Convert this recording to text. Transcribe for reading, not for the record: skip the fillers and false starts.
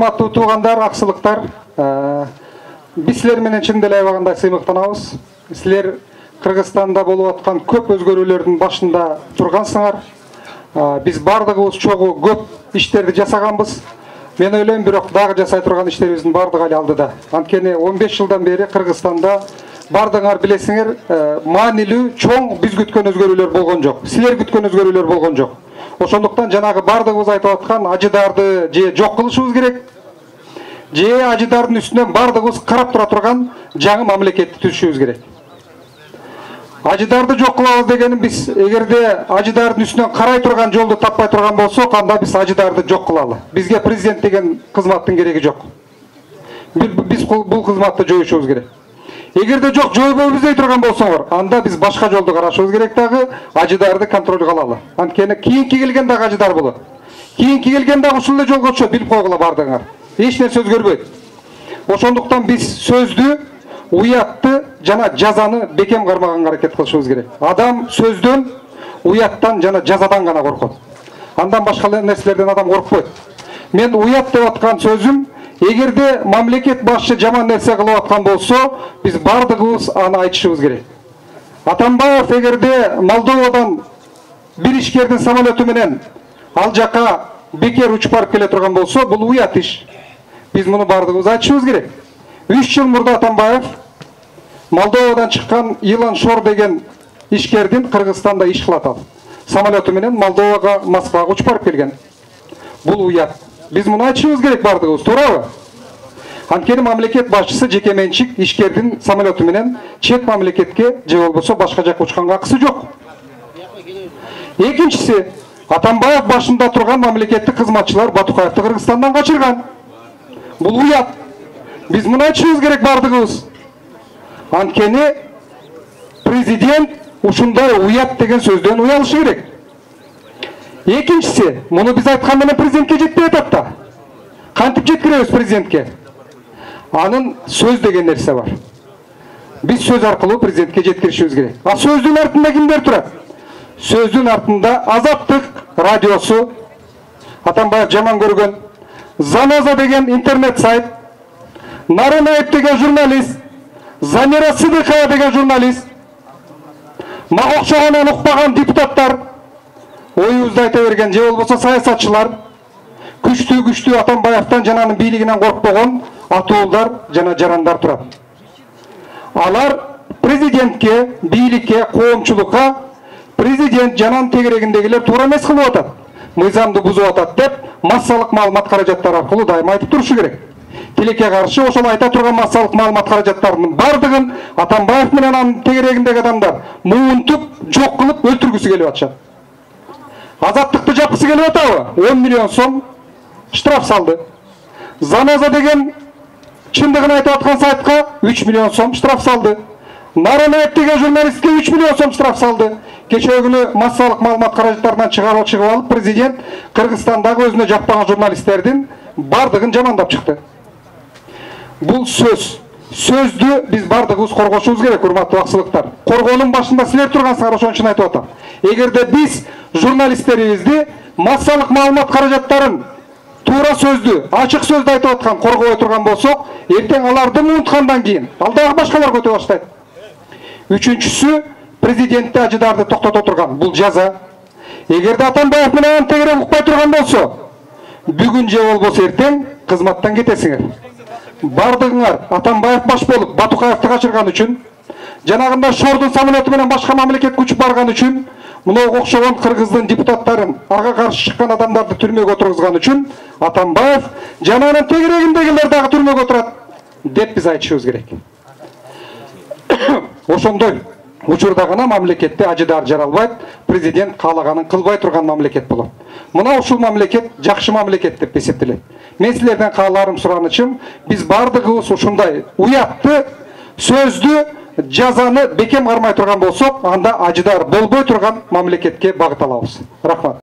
Урматтуу туугандар, аксылыктар, биз силер менен чын деле аябагандай сыймыктанабыз. Силер Кыргызстанда болуп аткан көп өзгөрүүлөрдүн башында тургансыңар. Биз бардыгыбыз чогуу көп иштерди жасаганбыз. Мен ойлойм, бирок дагы жасай турган иштерибиздин бардыгы али алдыда. Анткени 15 жылдан бери Кыргызстанда бардыгыңар билесиңер, маанилүү, чоң биз күткөн өзгөрүүлөр болгон жок. Силер күткөн өзгөрүүлөр болгон жок. Ошондуктан жанагы бардыгыбыз айтып аткан ажыдарды же жок кылышыбыз керек, же ажыдардын үстүнөн бардыгыбыз карап тура турган жаңы мамлекетти түзүшүбүз керек. Ажыдарды жок кылабыз дегеним, биз эгерде ажыдардын үстүнөн карай турган жолду таппай турган болсок, анда биз ажыдарды жок кылалы. Бизге президент деген кызматтын кереги жок. Биз бул кызматты жоюшубуз керек. Эгерде жок жойбойбуз издей турган болсоңор, анда биз башка жолду карашыбыз керек, дагы ажыдарды контролго алалы. Анткени кийинки келген дагы ажыдар болот. Кийинки келген дагы ушул эле жолго түшөт, билип койгула бардыгыңар. Эч нерсе өзгөрбөйт. Ошондуктан биз сөздү, уятты жана жазаны бекем кармаганга аракет кылышыбыз керек. Адам сөздөн, уяттан жана жазадан гана коркот. Андан башка нерселерден адам коркпойт. Мен уят деп аткан сөзүм, эгерде мамлекет башчы жаман нерсе кылып аткан болсо, биз бардыгыбыз аны айтышыбыз керек. Атамбаев эгерде Молдовадан бир ишкердин самолету менен ал жака бекер учуп барып келе турган болсо, бул уят иш. Биз муну бардыгыбыз айтышыбыз керек. 3 жыл мурда Атамбаев Молдовадан чыккан Илон Шор деген ишкердин Кыргызстанда иш кылат ал. Самолету менен Молдовага, Москвага учуп барып келген. Бул уят. Биз муну айтышыбыз керек бардыгыбыз, туурабы? Анткени мамлекет башчысы жеке менчик ишкердин самолету менен чет мамлекетке же болбосо башка жакка учканга акысы жок. Экинчиси, Атамбаев башында турган мамлекеттик кызматчылар Батукаевди Кыргызстандан качырган. Бул уят. Биз муну айтышыбыз керек бардыгыбыз. Анткени президент ушундай уят деген сөздөн уялышы керек. Экинчиси, муну биз айткан менен президентке жетпей атат да. Кантип жеткиребиз президентке? Анын сөз деген нерсе бар. Биз сөз аркылуу президентке жеткиришибиз керек. А сөздүн артында кимдер турат? Сөздүн артында Азаттык радиосу, Атамбаев жаман көргөн, Заноза деген интернет сайт, Нарынаев деген журналист, Замира Сыдыкова деген журналист, мага окшогонун укпаган депутаттар, оюбузду айта берген же болбосо саясатчылар, күчтүү Атамбаевтан жана анын бийлигинен коркпогон атуулдар жана жарандар турат. Алар президентке, бийликке, коомчулукка президент жананын тегерегиндегилер туура эмес кылып атат, мыйзамды бузуп атат деп массалык маалымат каражаттары аркылуу дайыма айтып турушу керек. Тилекке каршы ошол айта турган массалык маалымат каражаттарынын бардыгын Атамбаев менен анын тегерегиндеги адамдар муунтуп, жок кылып, өлтүргүсү келип атышат. Азаттыкты жапкысы келип атабы? 10 миллион сом штраф салды. Заноза деген чындыгын айтып аткан сайтка 3 миллион сом штраф салды. Нарынаев деген журналистке 3 миллион сом штраф салды. Кечээ күнү массалык маалымат каражаттарынан чыгып алып, президент Кыргызстандагы өзүнө жакпаган журналисттердин бардыгын жамандап чыкты. Бул сөздү биз бардыгыбыз коргошубуз керек, урматтуу аксылыктар. Коргоонун башында силер тургансыңар, ошон үчүн айтып атам. Эгерде биз журналисттерибизди массалык маалымат каражаттарын туура сөздү, ачык сөздү айтып аткан коргобой турган болсок, эртең аларды унуткандан кийин ал дагы башкалар көтө баштайт. Үчүнчүсү, президентти ажыдарды токтото турган бул жаза. Эгерде Атамбаев менен тегерек укпай турган болсо, бүгүн же болбосо эртең кызматтан кетесиңер. Бардыгыңар Атамбаев баш болуп Батукаевди качырган үчүн, жанагында Шордун самолету менен башка мамлекетке учуп барган үчүн, мынау окшогон кыргыздын депутаттарын, ага каршы чыккан адамдарды түрмөгө отургузган үчүн Атамбаев жана анын тегерегиндегилер дагы түрмөгө отурат деп биз айтышыбыз керек. Ошондой учурда гана мамлекетте ажыдар жаралбайт, президент каалаганын кылбай турган мамлекет болот. Мына ушул мамлекет жакшы мамлекет деп эсептелет. Мен силерден кааларым, суранычым, биз бардыгыбыз ушундай уятты, сөздү, жазаны бекем кармай турган болсок, анда ажыдар болбой турган мамлекетке багыт алабыз. Рахмат.